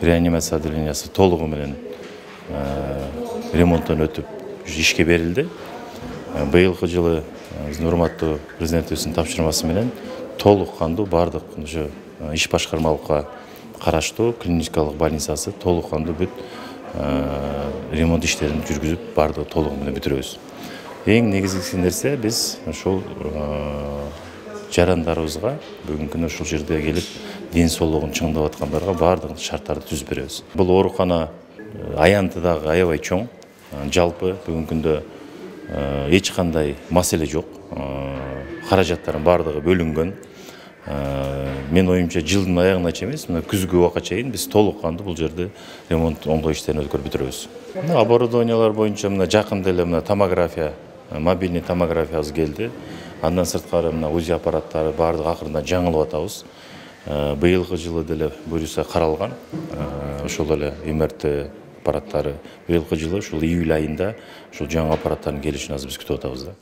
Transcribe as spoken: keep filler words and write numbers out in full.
реанимация отделениясы толугу менен ремонттон өтүп ишке берилди. Быйылкы жылы биздин урматтуу президентибиздин тапшырмасы менен толук кандуу бардык ошо иш башкармалыкка караштуу клиникалык больницасы толук кандуу бүт ремонт иштерин жүргүзүп бардыгы толугу менен бүтүрөбүз. Эң негизгиси нерсе биз ошол жарандарыбызга бүгүнкү күнү ушул жерде келип ден соолугун чыңдап аткандарга бардык шарттарды түзүп беребиз. Бул оорукана аянты дагы аябай чоң. Жалпы бүгүнкү күндө эч кандай маселе жок. Каражаттардын бардыгы бөлүнгөн. Мен оюмча жылдын аягына чейин эмес, мына күзгү убакка чейин биз толук кандуу бул жерде ремонт оңдоо иштерин өткөрүп бүтүрөбүз. Оборудованиялар боюнча мына жакында эле мына томография, мобильный томографиябыз келди. Андан сырткары мына УЗИ аппараттары бардыгы акырында жаңылып атабыз. Быйылкы жылы деле буюрса каралган. Ошол эле МРТ аппараттары быйылкы жылы ушул июль айында ушул жаңы аппараттардын келишин азыр биз күтүп атабыз да.